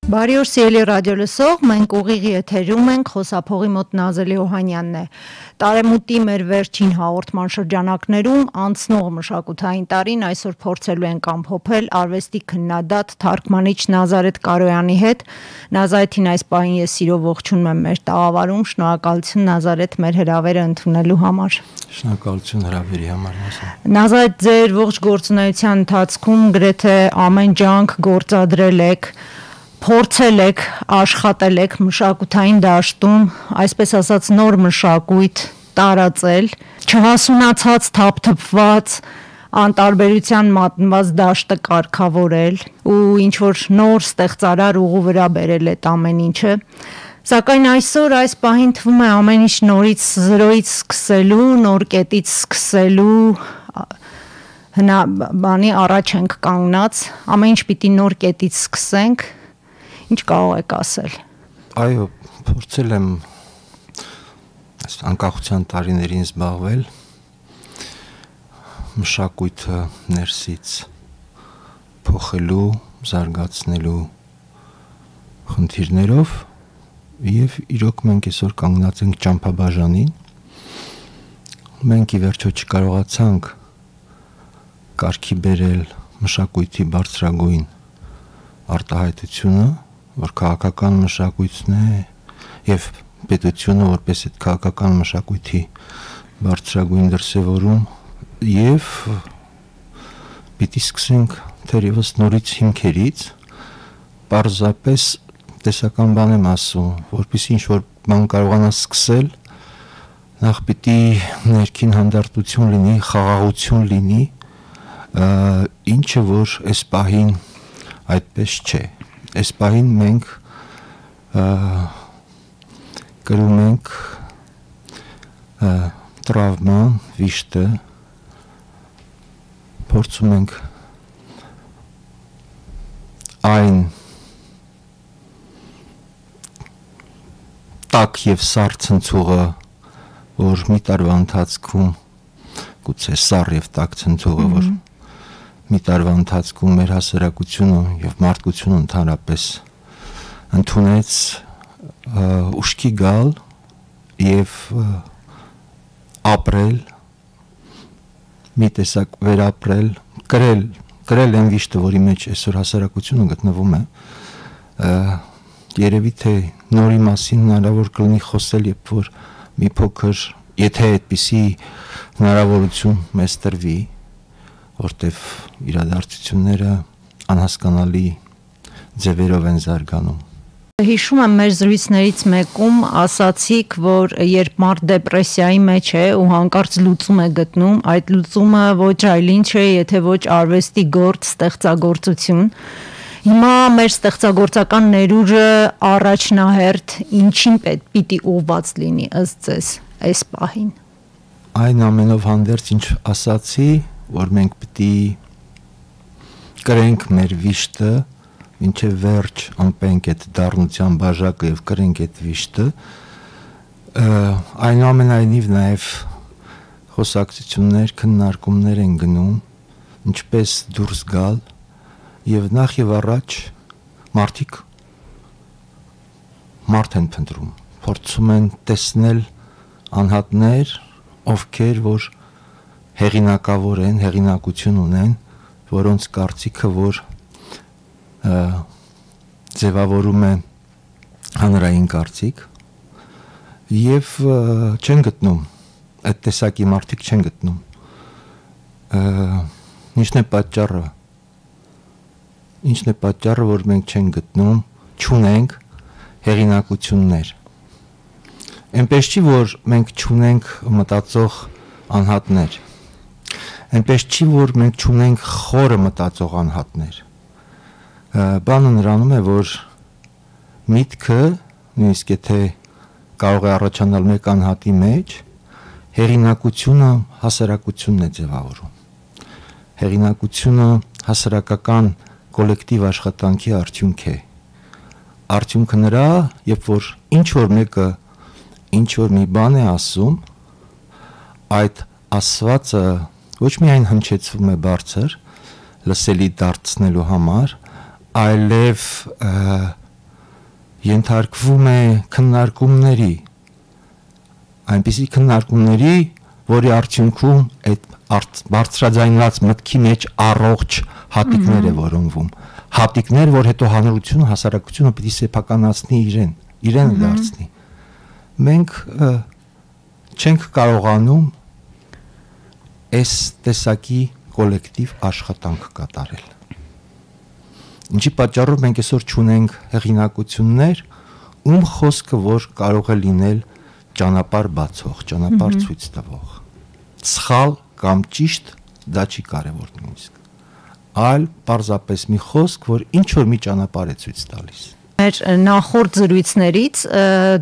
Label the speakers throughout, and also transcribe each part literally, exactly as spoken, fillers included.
Speaker 1: Բարի օր սիրելի ռադիոլսող, մենք ուղիղ եթերում ենք, խոսափողի մոտ Նազելի Օհանյանն է։ Տարեմուտի մեր վերջին հաղորդման շրջանակներում անցնող մշակութային տարին այսօր փորձելու ենք ամփոփել արվեստի քննադատ թարգմանիչ Նազարեթ Կարոյանի հետ։ Նազարեթին այս պահին ես սիրով ողջունում եմ մեր տաղավարում, շնորհակալություն Նազարեթ մեր հրավերը ընդունելու համար։
Speaker 2: Շնորհակալություն հրավերի համար։
Speaker 1: Նազարեթ, ձեր ողջ գործունեության ընթացքում գրեթե ամեն ջանք գործադրել եք, փորձել եք, աշխատել եք մշակութային դաշտում, այսպես ասած նոր մշակույթ տարածել, չհասունացած, թափթփված, անտարբերության մատնված դաշտը կարգավորել ու ինչ որ նոր ստեղծարար ուղու վրա բերել այդ ամեն ինչը։ Սակայն այսօր այս պահին թվում է ամեն ինչ նորից զրոյից սկսելու, նոր կետից սկսելու հնա բանի առաջ ենք կանգնած, ամեն ինչ պիտի նոր կետից սկսենք։ Ինչ կարող եք ասել։
Speaker 2: Այո, փորձել եմ այս անկախության տարիներին զբաղվել մշակույթը ներսից փոխելու, զարգացնելու խնդիրներով եւ իրոք մենք այսօր կանգնած ենք ճամփաբաժանին։ Մենք ի վերջո չկարողացանք կարգի բերել մշակույթի բարձրագույն արտահայտությունը, որ քաղաքական մշակույթն է եւ պետությունը որպես այդ քաղաքական մշակույթի բարձրագույն դրսևորում եւ պիտի սկսենք թերևս նորից հիմքերից, պարզապես տեսական բան եմ ասում, որպեսզի ինչ որ բան կարողանաս սկսել, նախ պիտի ներքին հանդարտություն լինի, խաղաղություն լինի, ինչը որ այս պահին այդպես չէ։ Այս պահին մենք կրում ենք տրավման, վիշտը, փորձում ենք այն տաք և սառ ցնցուղը, որ մի տարվա ընթացքում, գուցե սառ և տաք ցնցուղը, որ մի տարվա ընթացքում մեր հասարակությունը եւ մարդկությունը ընդհանրապես ընդունեց ուշքի գալ եւ ապրել, մի տեսակ վերապրել, կրել, կրել այն վիշտը, որի մեջ այսօր հասարակությունը գտնվում է, երևի թե նորի մասին հնարավոր կլինի խոսել, երբ որ մի փոքր, եթե այդպիսի հնարավորություն մեզ տրվի, որտեվ իրադարձությունները անհասկանալի ձևերով են զարգանում։
Speaker 1: Հիշում եմ մեր զրույցներից մեկում ասացիք, որ երբ մարդ դեպրեսիայի մեջ է ու հանկարծ լուծում է գտնում, այդ լուծումը ոչ այլ ինչ է, եթե ոչ արվեստի գործ, ստեղծագործություն։ Հիմա մեր ստեղծագործական ներուժը առաջնահերթ ինչին պիտի ուղղված լինի ըստ ձեզ այս պահին։
Speaker 2: Այն ամենով հանդերձ ինչ ասացի, որ մենք պիտի կրենք մեր վիշտը, մինչև վերջ անպենք այդ դառնության բաժակը և կրենք այդ վիշտը, այնուամենայնիվ նաև խոսակցություններ, քննարկումներ են գնում, ինչպես դուրս գալ, և նախ և առաջ մարդիկ մարդ են փնտրում, փորձում են տեսնել անհատներ, ովքեր որ հեղինակավոր են, հեղինակություն ունեն, որոնց կարծիքը, որ ձևավորում է հանրային կարծիք և չեն գտնում, այդ տեսակի մարդիկ չեն գտնում։ Ինչն է պատճառը, ինչն է պատճառը, որ մենք չեն գտնում, չունենք հեղինակություններ։ Այնպես չի, որ մենք չունենք մտածող անհատներ, այնպես չի, որ մենք չունենք խորը մտածող անհատներ։ Բանը նրանում է, որ միտքը, նույնիսկ եթե կարող է առաջանալ մեկ անհատի մեջ, հեղինակությունը հասարակությունն է ձևավորում։ Հեղինակությունը հասարակական կոլեկտիվ աշխատանքի արդյունք է։ Արդյունքը նրա, երբ որ ինչ որ մեկը ինչ որ մի բան է ասում, այդ ասվածը ոչ միայն հնչեցվում է բարձր, լսելի դարձնելու համար, այլև ենթարկվում է քննարկումների, այնպիսի քննարկումների, որի արդյունքում այդ բարձրաձայնված մտքի մեջ առողջ հատիկներ է որոնվում, հատիկներ, որ հետո հանրությունը, հասարակությունը պիտի սեփականացնի իրեն, իրեն դարձնի։ Մենք չենք կարողանում այս տեսակի կոլեկտիվ աշխատանք կատարել։ Ինչի պատճառով մենք այսօր չունենք հեղինակություններ, ում խոսքը որ կարող է լինել ճանապարհ բացող, ճանապարհ ցույց տվող։ Սխալ կամ ճիշտ դա չի կարևոր նույնիսկ, այլ պարզապես մի խոսք, որ ինչ որ մի ճանապարհ է ցույց տալիս։
Speaker 1: Մեր նախորդ զրույցներից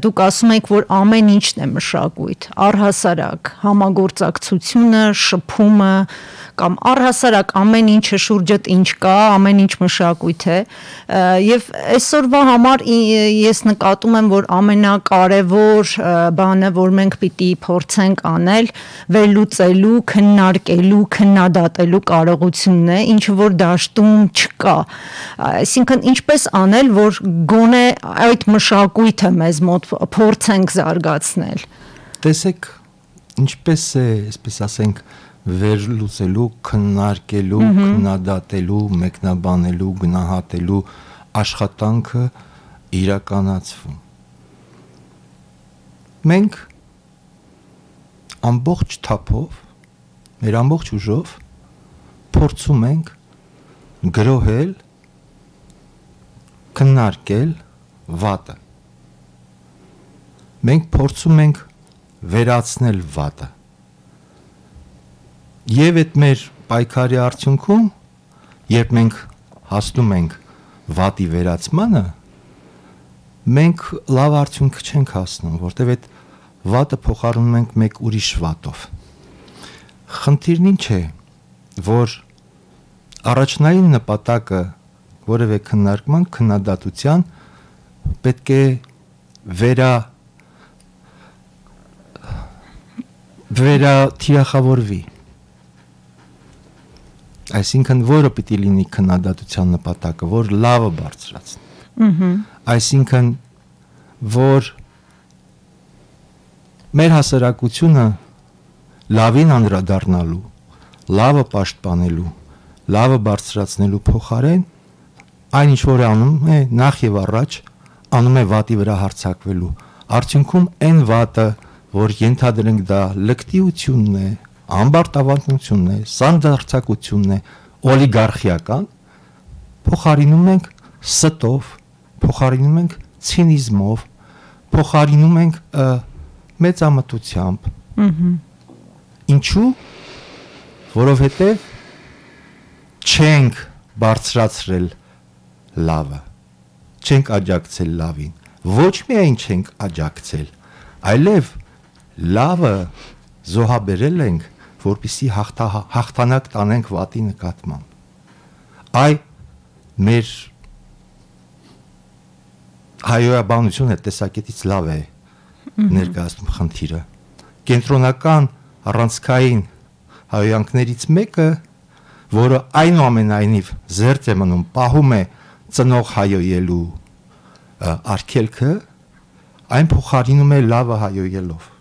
Speaker 1: դուք ասում եք, որ ամեն ինչն է մշակույթ, առհասարակ համագործակցությունը, շփումը կամ առհասարակ ամեն ինչը շուրջդ ինչ կա, ամեն ինչ մշակույթ է, եւ այսօրվա համար ես նկատում եմ, որ ամենակարևոր բանը, որ մենք պիտի փորձենք անել, վերլուծելու, քննարկելու, քննադատելու կարողությունն է, ինչը որ դաշտում չկա։ Այսինքն ինչպես անել, որ գոնե այդ մշակույթը մեզ մոտ փորձենք զարգացնել։
Speaker 2: Տեսեք, ինչպես է, այսպես ասենք, վերլուծելու, քննարկելու, քննադատելու, մեկնաբանելու, գնահատելու աշխատանքը իրականացվում։ Մենք ամբողջ թափով, մեր ամբողջ ուժով փորձում ենք գրոհել, քննարկել վատը։ Մենք փորձում ենք վերացնել վատը։ Եվ այդ մեր պայքարի արդյունքում, երբ մենք հասնում ենք վատի վերացմանը, մենք լավ արդյունք չենք հասնում, որտեղ այդ վատը փոխարինում ենք մեկ ուրիշ վատով։ Խնդիրն ինչ է, որ առաջնային նպատակը որևէ քննարկման, քննադատության պետք է վերա վերա թիրախավորվի։ Այսինքն որը պիտի լինի քննադատության նպատակը, որ լավը բարձրացնի։ Այսինքն որ մեր հասարակությունը լավին անդրադառնալու, լավը պաշտպանելու, լավը բարձրացնելու փոխարեն այն ինչ որ անում է նախ եւ առաջ անում է վատի վրա հարձակվելու։ Արդյունքում այն վատը, որ ենթադրենք դա լկտիությունն է, ամբարտավանությունն է, սանդարձակությունն է, օլիգարխիական, փոխարինում ենք ստով, փոխարինում ենք ցինիզմով, փոխարինում ենք մեծամտությամբ։ Ինչու՞, որովհետև չենք բարձրացրել լավը, չենք աջակցել լավին, ոչ միայն չենք աջակցել, այլև լավը զոհաբերել ենք, որպեսզի հաղթա, հաղթանակ տանենք վատի նկատմամբ։ Այ մեր հայոյաբանությունը տեսակետից լավ է ներկայացնում խնդիրը։ Կենտրոնական առանցքային հայոյանքներից մեկը, որը այնուամենայնիվ զերծ է մնում, պահում է ծնող հայոյելու արգելքը, այն փոխարինում է լավը հայոյելով։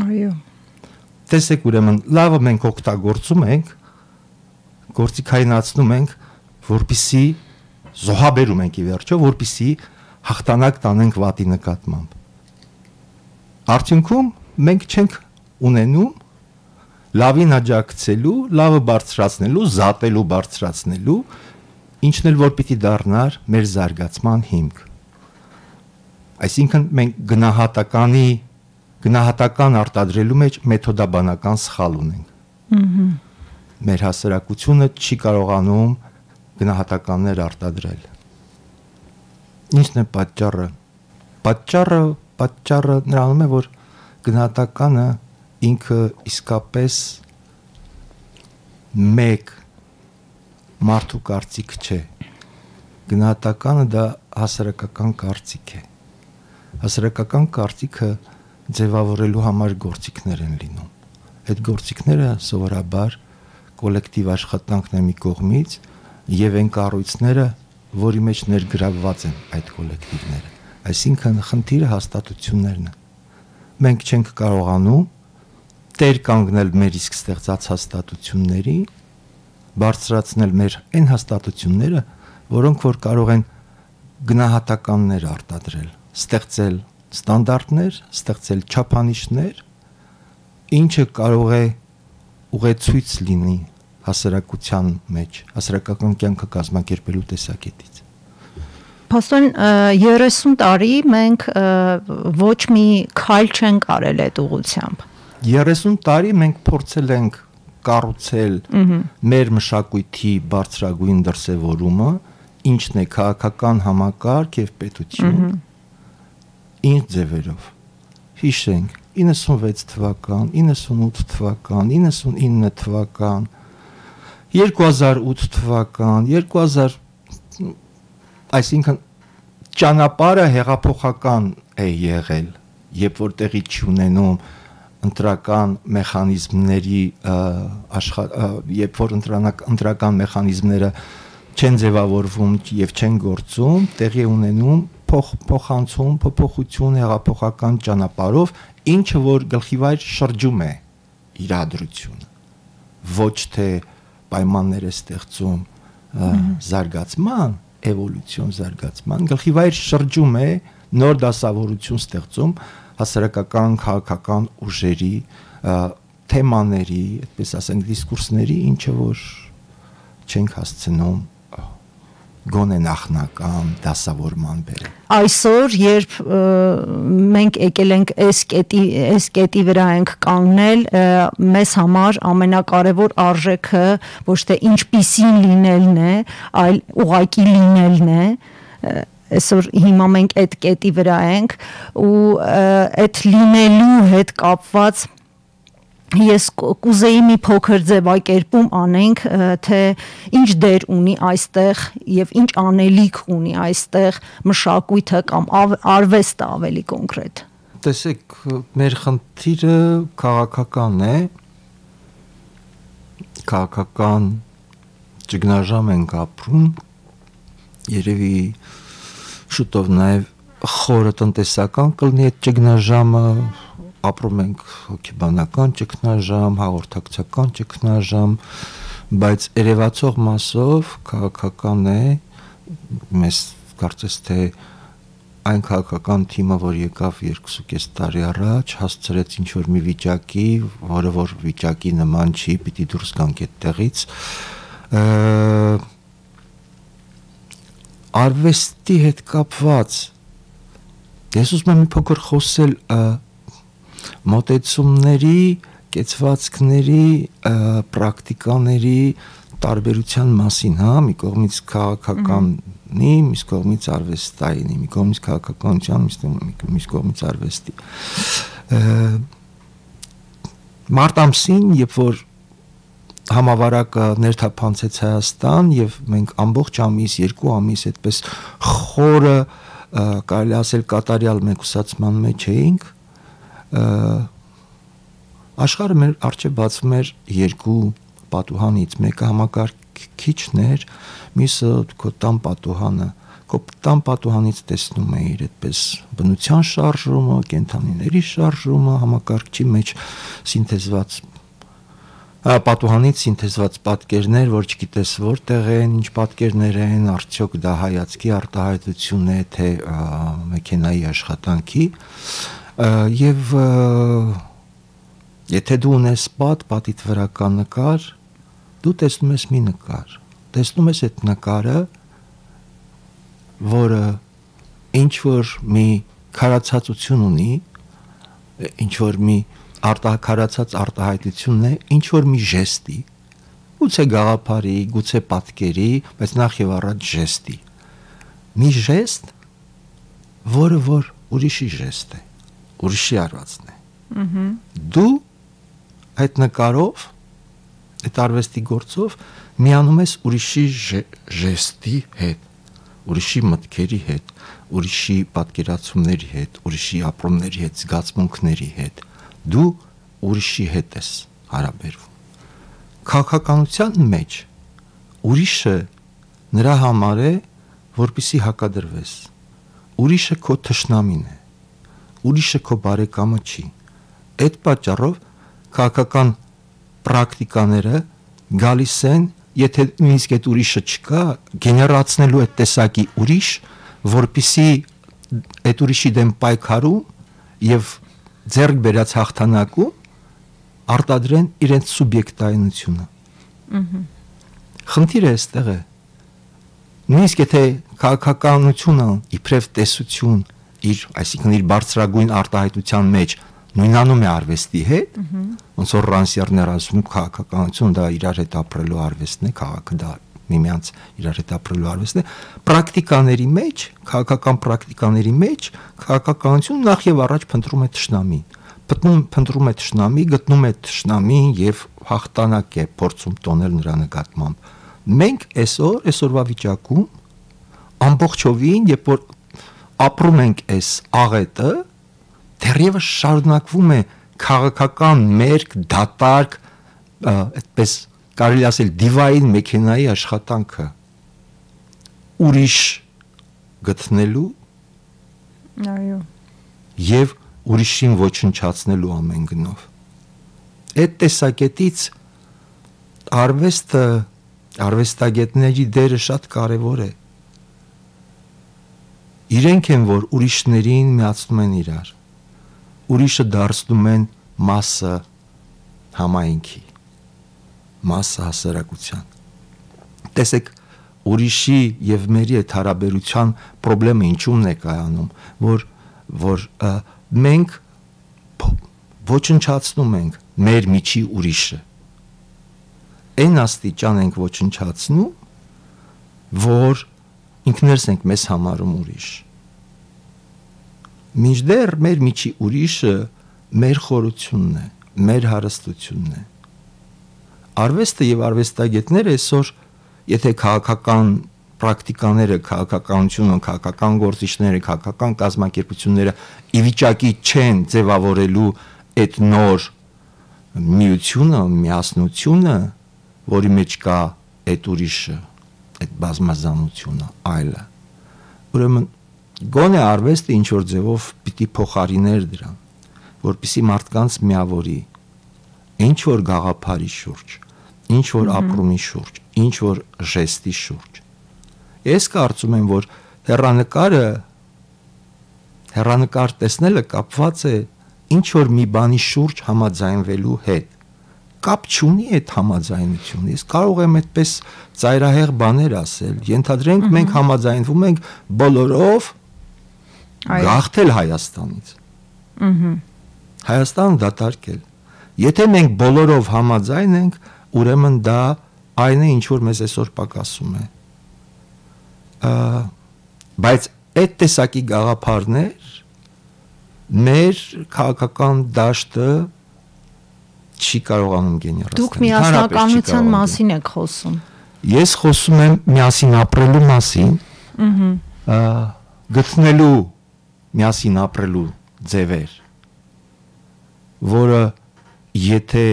Speaker 1: Այո։
Speaker 2: Տեսեք ուրեմն լավը մենք օգտագործում ենք, գործիքայնացնում ենք, որպեսզի զոհաբերում ենք ի վերջո, որպեսզի հաղթանակ տանենք վատի նկատմամբ։ Արդյունքում մենք չենք ունենում լավին աջակցելու, լավը բարձրացնելու, զատելու, բարձրացնելու, ինչն էլ որ պիտի դառնար մեր զարգացման հիմք։ Այսինքն մենք գնահատականի գնահատական արտադրելու մեջ մեթոդաբանական սխալ ունենք։ Մեր հասարակությունը չի կարողանում գնահատականներ արտադրել։ Ինչն է պատճառը։ Պատճառը, պատճառը նրանում է, որ գնահատականը ինքը իսկապես մեկ մարդու կարծիք չէ։ Գնահատականը դա հասարակական կարծիք է։ Հասարակական կարծիքը ձևավորելու համար գործիքներ են լինում։ Այդ գործիքները սովորաբար կոլեկտիվ աշխատանքն է մի կողմից եւ այն կառույցները, որի մեջ ներգրավված են այդ կոլեկտիվները։ Այսինքն խնդիրը հաստատություններն են։ Մենք չենք կարողանում տեր կանգնել մեր իսկ ստեղծած հաստատությունների, բարձրացնել մեր այն հաստատությունները, որոնք որ կարող են գնահատականներ արտադրել, ստեղծել ստանդարտներ, ստեղծել չափանիշներ, ինչը կարող է ուղեցույց լինի հասարակության մեջ, հասարակական կյանքը կազմակերպելու տեսակետից։
Speaker 1: Պաստոր, երեսուն տարի մենք ոչ մի քայլ չենք արել այդ ուղղությամբ։
Speaker 2: երեսուն տարի մենք փորձել ենք կառուցել մեր մշակույթի բարձրագույն դրսևորումը, ինչն է քաղաքական համակարգ եւ պետություն, ինչ ձևերով։ Հիշենք իննսունվեց թվական, իննսունութ թվական, իննսունինը թվական, երկու հազար ութ թվական, երկու հազար, այսինքն ճանապարհը հեղափոխական է եղել, երբ որ տեղի չունենում ընտրական մեխանիզմների աշխատ, երբ որ ընտրական մեխանիզմները չեն ձևավորվում եւ չեն գործում, տեղի ունենում փոխանցում, փոփոխություն հեղափոխական ճանապարհով, ինչը որ գլխիվայր շրջում է իրադրությունը, ոչ թե պայմաններ է ստեղծում զարգացման, էվոլյուցիոն զարգացման, գլխիվայր շրջում է նոր դասավորություն ստեղծում հասարակական, քաղաքական ուժերի, թեմաների, այդպես ասենք, դիսկուրսների, ինչը որ չենք հասցնում գոնե նախնական դասավորման բերել։
Speaker 1: Այսօր, երբ մենք եկել ենք այս կետի, այս կետի վրա ենք կանգնել, մեզ համար ամենակարևոր արժեքը ոչ թե ինչպիսին լինելն է, այլ ուղղակի լինելն է։ Այսօր հիմա մենք այդ կետի վրա ենք ու այդ լինելու հետ կապված ես կուզեի մի փոքր ձևակերպում անենք, թե ինչ դեր ունի այստեղ եւ ինչ անելիք ունի այստեղ մշակույթը կամ արվեստը ավելի կոնկրետ։
Speaker 2: Տեսեք, մեր խնդիրը քաղաքական է, քաղաքական ճգնաժամ ենք ապրում, երևի շուտով նաեւ խորը տնտեսական կլինի այդ ճգնաժամը, ապրում ենք հոգեբանական ճգնաժամ, հաղորդակցական ճգնաժամ, բայց երևացող մասով քաղաքական է, մեզ կարծես թե այն քաղաքական թիմը, որ եկավ երկուսուկես տարի առաջ, հասցրեց ինչ-որ մի վիճակի, որը որ վիճակի նման չի, պիտի դուրս գանք այդտեղից, արվեստի հետ կապված, ես ուզում եմ մի փոքր խոսել մոտեցումների, կեցվածքների, պրակտիկաների տարբերության մասին, հա, մի կողմից քաղաքականի, մյուս կողմից արվեստային, մի կողմից քաղաքականության, մյուս կողմից արվեստի։ Մարտ ամսին, երբ որ համավարակը ներթափանցեց Հայաստան եւ մենք ամբողջ ամիս, երկու ամիս այդպես խորը, կարելի ասել կատարյալ մեկուսացման մեջ էինք, աշխարհը մեր առջև բացվում էր երկու պատուհանից, մեկը համակարգիչն էր, մյուսը քո տան պատուհանը, քո տան պատուհանից տեսնում էիր այդպես բնության շարժումը, կենդանիների շարժումը, համակարգչի մեջ սինթեզված պատուհանից սինթեզված պատկերներ, որ չգիտես որտեղ են, ինչ պատկերներ են, արդյոք դա հայացքի արտահայտություն է, թե մեքենայի աշխատանքի, եւ եթե դու ունես պատ, պատիդ վրա կա նկար, դու տեսնում ես մի նկար, տեսնում ես այդ նկարը, որը ինչ որ մի քարացածություն ունի, ինչ որ մի արտահայտած արտահայտությունն է, ինչ որ մի ժեստի, գուցե գաղափարի, գուցե պատկերի, բայց նախ եւ առաջ ժեստի, մի ժեստ, որը որ ուրիշի ժեստ է, ուրիշի արվածն է։ Դու այդ նկարով, այդ արվեստի գործով միանում ես ուրիշի ժեստի հետ, ուրիշի մտքերի հետ, ուրիշի պատկերացումների հետ, ուրիշի ապրումների հետ, զգացմունքների հետ, դու ուրիշի հետ ես հարաբերվում։ Քաղաքականության մեջ ուրիշը նրա համար է, որպեսզի հակադրվես, ուրիշը քո թշնամին է, ուրիշը քո բարեկամը չի։ Այդ պատճառով քաղաքական պրակտիկաները գալիս են, եթե նույնիսկ այդ ուրիշը չկա, գեներացնելու այդ տեսակի ուրիշ, որպիսի այդ ուրիշի դեմ պայքարում եւ ձեռք բերած հաղթանակում արտադրեն իրենց սուբյեկտայնությունը։ Խնդիրը այստեղ է։ Նույնիսկ եթե քաղաքականությունը իբրև տեսություն իր, այսինքն իր բարձրագույն արտահայտության մեջ նույնանում է արվեստի հետ, ոնց որ Ռանսիերն ասում քաղաքականությունը դա իրար հետ ապրելու արվեստն է, քաղաքը դա միմյանց իրար հետ ապրելու արվեստն է, պրակտիկաների մեջ, քաղաքական պրակտիկաների մեջ քաղաքականությունը նախ եւ առաջ փնտրում է թշնամին, փնտրում փնտրում է թշնամի, գտնում է թշնամին եւ հաղթանակ է փորձում տոնել նրա նկատմամբ։ Մենք այսօր, այսօրվա վիճակում ամբողջովին, երբ որ ապրում ենք այս աղետը, դեռևս շարունակվում է քաղաքական մերկ, դատարկ, այդպես կարելի ասել դիվային մեքենայի աշխատանքը ուրիշ գտնելու
Speaker 1: այո
Speaker 2: եւ ուրիշին ոչնչացնելու ամեն գնով։ Այդ տեսակետից արվեստը, արվեստագետների դերը շատ կարևոր է։ Իրենք են, որ ուրիշներին միացնում են իրար, ուրիշը դարձնում են մասը համայնքի, մասը հասարակության։ Տեսեք, ուրիշի եւ մերի այդ հարաբերության խնդրեմը ինչու՞մն է կայանում, որ որ մենք ոչնչացնում ենք մեր միջի ուրիշը։ Այն աստիճան ենք ոչնչացնում, որ ինքներս ենք մեզ համարում ուրիշ։ Մինչդեռ մեր միջի ուրիշը մեր խորությունն է, մեր հարստությունն է։ Արվեստը եւ արվեստագետները այսօր, եթե քաղաքական պրակտիկաները, քաղաքականությունը, քաղաքական գործիչները, քաղաքական կազմակերպությունները ի վիճակի չեն ձևավորելու այդ նոր միությունը, միասնությունը, որի մեջ կա այդ ուրիշը, այդ բազմազանությունը, այլը։ Ուրեմն գոնե արվեստը ինչ որ ձևով պիտի փոխարիներ դրան, որպեսզի մարդկանց միավորի ինչ որ գաղափարի շուրջ, ինչ որ ապրումի շուրջ, ինչ որ ժեստի շուրջ։ Ես կարծում եմ, որ հեռանկարը հեռանկար տեսնելը կապված է ինչ որ մի բանի շուրջ համաձայնվելու հետ։ Կապ չունի այդ համաձայնությունը։ Ես կարող եմ այդպես ծայրահեղ բաներ ասել։ Ենթադրենք մենք համաձայնվում ենք բոլորով գաղթել Հայաստանից։ Հայաստանը դատարկել։ Եթե մենք բոլորով համաձայն ենք, ուրեմն դա այն է, ինչ որ մեզ այսօր պակասում է։ Բայց այդ տեսակի գաղափարներ մեր քաղաքական դաշտը չի կարողանում գեներացնել։
Speaker 1: Դուք միասնականության մասին եք խոսում։
Speaker 2: Ես խոսում եմ միասին ապրելու մասին, գտնելու միասին ապրելու ձևեր, որը եթե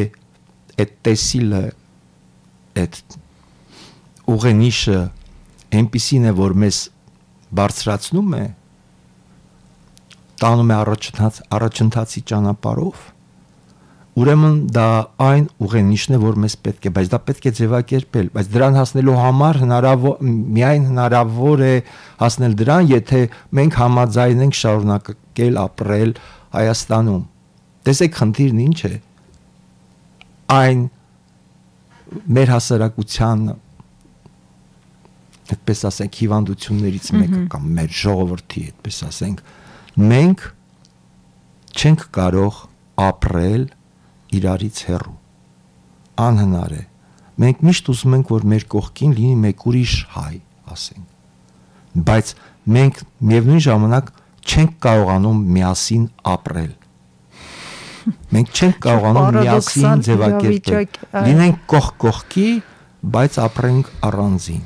Speaker 2: այդ տեսիլը, այդ ուղենիշը այնպիսին է, որ մեզ բարձրացնում է, տանում է առաջընթաց, առաջընթացի ճանապարհով, ուրեմն դա այն ուղենիշն է, որ մեզ պետք է, բայց դա պետք է ձևակերպել, բայց դրան հասնելու համար հնարավոր, միայն հնարավոր է հասնել դրան, եթե մենք համաձայնենք շարունակել ապրել Հայաստանում։ Տեսեք, խնդիրն ինչ է, այն մեր հասարակության, այդպես ասենք, հիվանդություններից մեկը կամ մեր ժողովրդի, այդպես ասենք, մենք չենք կարող ապրել իրարից հեռու, անհնար է։ Մենք միշտ ուզում ենք, որ մեր կողքին լինի մեկ ուրիշ հայ, ասենք, բայց մենք միևնույն ժամանակ չենք կարողանում միասին ապրել։ Մենք չենք կարողանում միասին ձևակերպել։ Լինենք կողք կողքի, բայց ապրենք առանձին։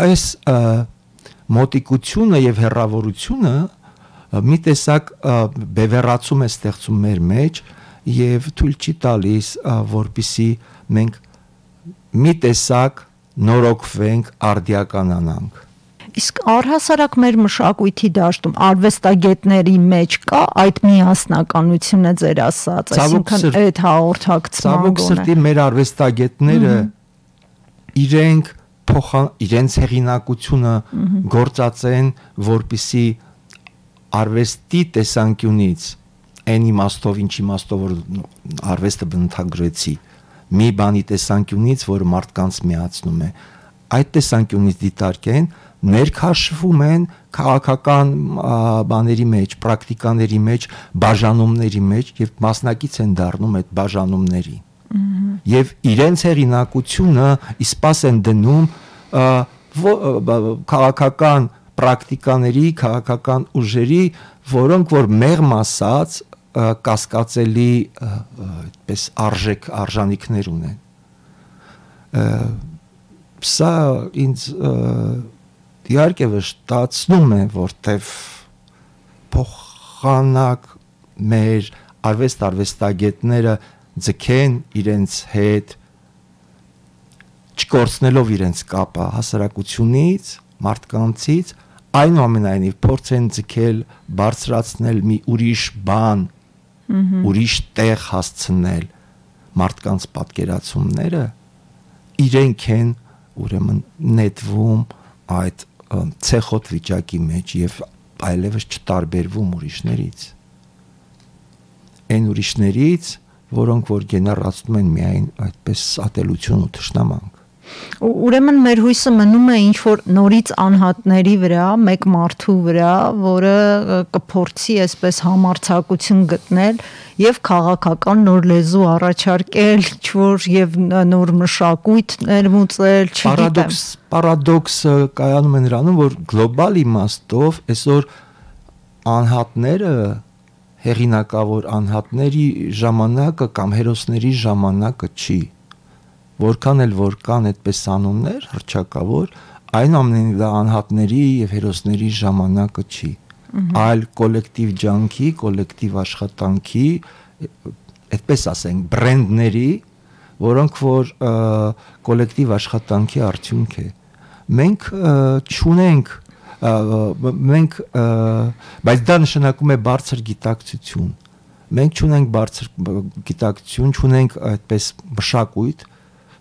Speaker 2: Այս մոտիկությունը եւ հեռավորությունը մի տեսակ բևեռացում է ստեղծում մեր մեջ եւ թույլ չի տալիս, որպիսի մենք մի տեսակ նորոգվենք, արդիականանանք։
Speaker 1: Իսկ առհասարակ մեր մշակույթի դաշտում արվեստագետների մեջ կա այդ միասնականությունը ձեր ասած, այսինքն այդ հաղորդակցման
Speaker 2: գոնե։ Ցավոք սրտի մեր արվեստագետները իրենք փոխան իրենց հեղինակությունը գործածեն, որպիսի արվեստի տեսանկյունից այն իմաստով, ինչ իմաստով որ արվեստը բնութագրեցի, մի բանի տեսանկյունից, որ մարդկանց միացնում է, այդ տեսանկյունից դիտարկեն, ներքաշվում են քաղաքական բաների մեջ, պրակտիկաների մեջ, բաժանումների մեջ եւ մասնակից են դառնում այդ բաժանումների։ Եվ իրենց հեղինակությունը իսպաս են դնում քաղաքական պրակտիկաների, քաղաքական ուժերի, որոնք որ մեղմ ասած կասկածելի այդպես արժեք արժանիքներ ունեն։ Սա ինձ իհարկե վշտացնում է, որտեվ փոխանակ մեր արվեստ արվեստագետները ձգեն իրենց հետ, չկորցնելով իրենց կապը հասարակությունից, մարդկանցից, այնուամենայնիվ փորձեն ձգել, բարձրացնել մի ուրիշ բան, ուրիշ տեղ հասցնել մարդկանց պատկերացումները, իրենք են ուրեմն նետվում այդ ցեխոտ վիճակի մեջ եւ այլևս չտարբերվում ուրիշներից։ Այն ուրիշներից, որոնք որ գեներացնում են միայն այդպես ատելություն ու թշնամանք։
Speaker 1: Ուրեմն մեր հույսը մնում է ինչ որ նորից անհատների վրա, մեկ մարդու վրա, որը կփորձի այսպես համարձակություն գտնել եւ քաղաքական նոր լեզու առաջարկել, ինչ որ եւ նոր մշակույթ ներմուծել, չգիտեմ։
Speaker 2: Պարադոքսը կայանում է նրանում, որ գլոբալ իմաստով այսօր անհատները, հեղինակավոր անհատների ժամանակը կամ հերոսների ժամանակը չի։ Որքան էլ որ կան այդպես անուններ հռչակավոր, այնուամենայնիվ դա անհատների եւ հերոսների ժամանակը չի, այլ կոլեկտիվ ջանքի, կոլեկտիվ աշխատանքի, այդպես ասենք, բրենդների, որոնք որ կոլեկտիվ աշխատանքի արդյունք է։ Մենք չունենք, մենք, բայց դա նշանակում է բարձր գիտակցություն։ Մենք չունենք բարձր գիտակցություն, չունենք այդպես մշակույթ,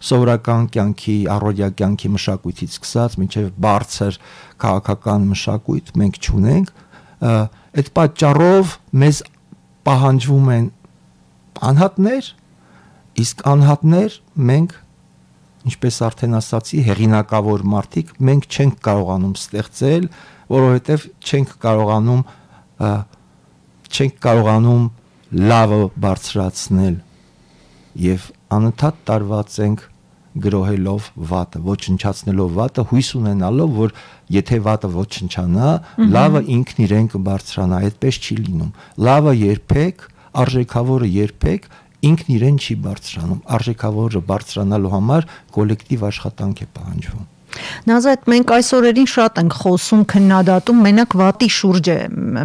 Speaker 2: սովորական կյանքի, առօրյա կյանքի մշակույթից սկսած մինչև բարձր քաղաքական մշակույթ մենք չունենք, այդ պատճառով մեզ պահանջվում են անհատներ, իսկ անհատներ մենք, ինչպես արդեն ասացի, հեղինակավոր մարդիկ, մենք չենք կարողանում ստեղծել, որովհետև չենք կարողանում չենք կարողանում լավը բարձրացնել եւ անընդհատ տարված ենք գրոհելով վատը, ոչնչացնելով վատը, հույս ունենալով, որ եթե վատը ոչնչանա, լավը ինքն իրեն կբարձրանա, այդպես չի լինում։ Լավը երբեք, արժեքավորը երբեք ինքն իրեն չի բարձրանում։ Արժեքավորը բարձրանալու համար կոլեկտիվ աշխատանք է պահանջվում։
Speaker 1: Նազարեթ, մենք այս օրերին շատ ենք խոսում, քննադատում, մենակ վատի շուրջ է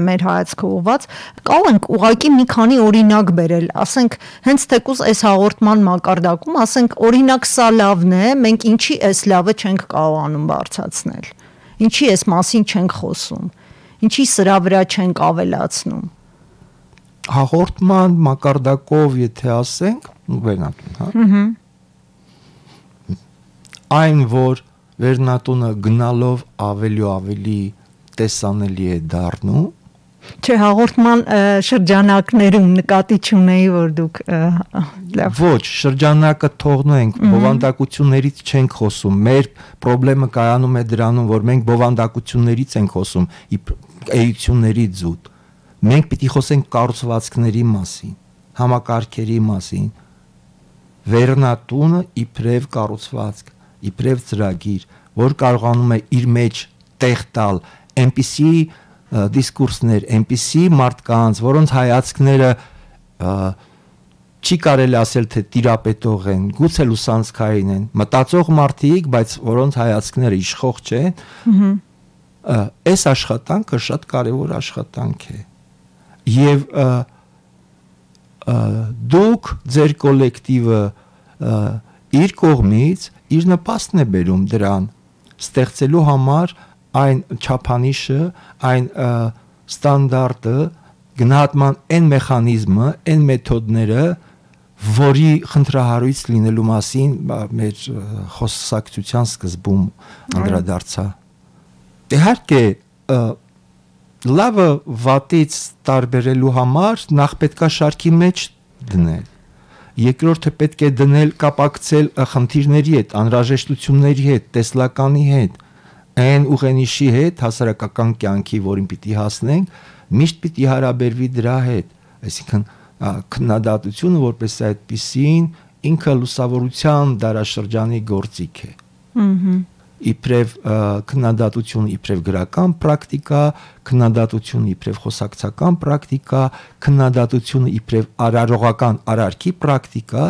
Speaker 1: մեր հայացքը ուղված, կարող ենք ուղղակի մի քանի օրինակ բերել, ասենք, հենց թեկուզ այս հաղորդման մակարդակում, ասենք, օրինակ սա լավն է, մենք ինչի այս լավը չենք կարողանում բարձրացնել, ինչի այս մասին չենք խոսում, ինչի սրա վրա չենք ավելացնում։
Speaker 2: Հաղորդման մակարդակով եթե ասենք, վերնատուն, հա։ Այն, որ վերնատունը գնալով ավելի ու ավելի տեսանելի է դառնում։
Speaker 1: Չէ, հաղորդման շրջանակներում նկատի չունեի, որ դուք
Speaker 2: ոչ, շրջանակը թողնենք, բովանդակություններից չենք խոսում։ Մեր խնդրեմը կայանում է դրանում, որ մենք բովանդակություններից ենք խոսում, էություններից զուտ։ Մենք պիտի խոսենք կառուցվածքների մասին, համակարգերի մասին։ Վերնատունը իբրև կառուցվածք, իբրև ծրագիր, որ կարողանում է իր մեջ տեղ տալ այնպիսի դիսկուրսներ, այնպիսի մարդկանց, որոնց հայացքները չի կարելի ասել թե տիրապետող են, գուցե լուսանցքային են, մտածող մարդիկ, բայց որոնց հայացքները իշխող չեն, այս աշխատանքը շատ կարևոր աշխատանք է։ Եվ դուք ձեր կոլեկտիվը իր կողմից իր նպաստն է բերում դրան ստեղծելու համար այն չափանիշը, այն ստանդարտը, գնահատման այն մեխանիզմը, այն մեթոդները, որի խնդրահարույց լինելու մասին մեր խոսակցության սկզբում անդրադարձա։ Իհարկե, լավը վատից տարբերելու համար նախ պետքա շարքի մեջ դնել։ Երկրորդը պետք է դնել կապակցել խնդիրների հետ, անհրաժեշտությունների հետ, տեսլականի հետ, այն ուղենիշի հետ, հասարակական կյանքի, որին պիտի հասնենք, միշտ պիտի հարաբերվի դրա հետ, այսինքն քննադատությունը որպես այդպիսին ինքը լուսավորության դարաշրջանի գործիք է։ Իբրև քննադատությունը իբրև գրական պրակտիկա, քննադատությունը իբրև խոսակցական պրակտիկա, քննադատությունը իբրև արարողական արարքի պրակտիկա,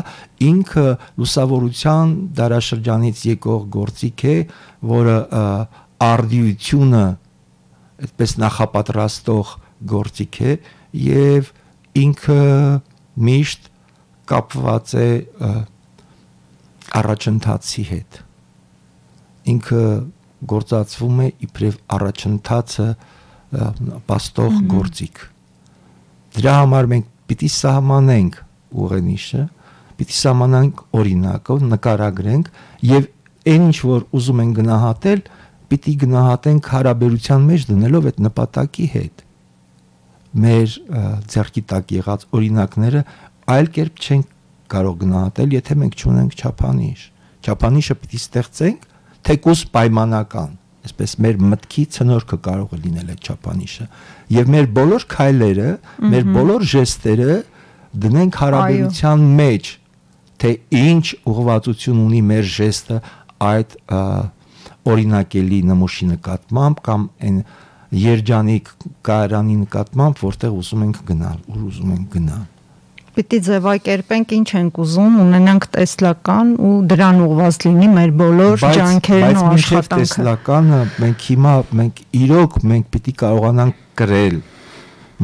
Speaker 2: ինքը լուսավորության դարաշրջանից եկող գործիք է, որը արդիությունը այդպես նախապատրաստող գործիք է եւ ինքը միշտ կապված է առաջընթացի հետ։ Ինքը գործածվում է իբրև առաջընթացը պաստող գործիք։ Դրա համար մենք պիտի սահմանենք ուղենիշը, պիտի սահմանենք օրինակով, նկարագրենք եւ այն ինչ որ ուզում են գնահատել, պիտի գնահատենք հարաբերության մեջ դնելով այդ նպատակի հետ։ Մեր ձեռքի տակ եղած օրինակները այլ կերպ չենք կարող գնահատել, եթե մենք չունենք չափանիշ։ Չափանիշը պիտի ստեղծենք, թեկուզ պայմանական, այսպես մեր մտքի ցնորքը կարող է լինել այդ չափանիշը, եւ մեր բոլոր քայլերը, մեր բոլոր ժեստերը դնենք հարաբերության մեջ, թե ինչ ուղղվածություն ունի մեր ժեստը այդ օրինակելի նմուշի նկատմամբ կամ այն երջանիկ կայարանի նկատմամբ, որտեղ ուզում ենք գնալ, ուր ուզում ենք գնալ։
Speaker 1: Պիտի ձևակերպենք ինչ ենք ուզում, ունենանք տեսլական ու դրան ուղղված լինի մեր բոլոր ջանքերն ու աշխատանքը։
Speaker 2: Բայց տեսլականը մենք հիմա մենք իրոք մենք պիտի կարողանանք կրել,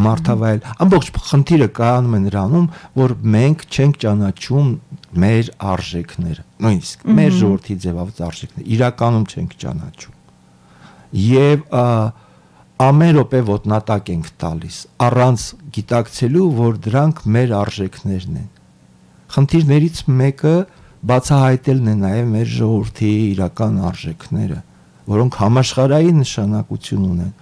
Speaker 2: մարդավայել։ Ամբողջ խնդիրը կայանում է նրանում, որ մենք չենք ճանաչում մեր արժեքները, նույնիսկ մեր ժողովրդի ձևավորած արժեքները, իրականում չենք ճանաչում։ Եվ ամեն րոպե ոտնատակ ենք տալիս, առանց գիտակցելու, որ դրանք մեր արժեքներն են։ Խնդիրներից մեկը բացահայտելն է նաև մեր ժողովրդի իրական արժեքները, որոնք համաշխարհային նշանակություն ունեն։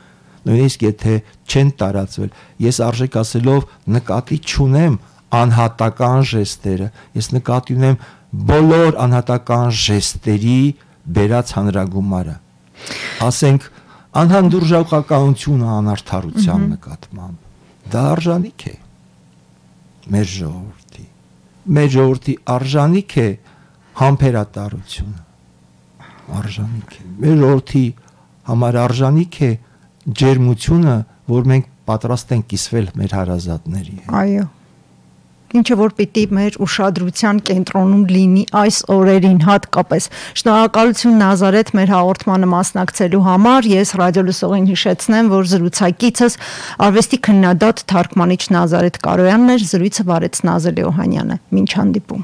Speaker 2: Նույնիսկ եթե չեն տարածվել, ես արժեք ասելով նկատի չունեմ անհատական ժեստերը, ես նկատի ունեմ բոլոր անհատական ժեստերի բերած հանրագումարը։ Ասենք անհանդուրժողականությունը անարդարության նկատմամբ դա արժանիք է մեր ժողովրդի մեր ժողովրդի արժանիք է համբերատարությունը արժանիք է մեր ժողովրդի համար արժանիք է ջերմությունը, որ մենք պատրաստ ենք կիսվել մեր հարազատների հետ։
Speaker 1: Այո, ինչը որ պիտի մեր ուշադրության կենտրոնում լինի այս օրերին հատկապես։ Շնորհակալություն Նազարեթ մեր հաղորդմանը մասնակցելու համար։ Ես ռադիոլսողին հիշեցնեմ, որ զրուցակիցս արվեստի քննադատ թարգմանիչ Նազարեթ Կարոյանն էր, զրույցը վարեց Նազելի Օհանյանը։ Մինչ հանդիպում։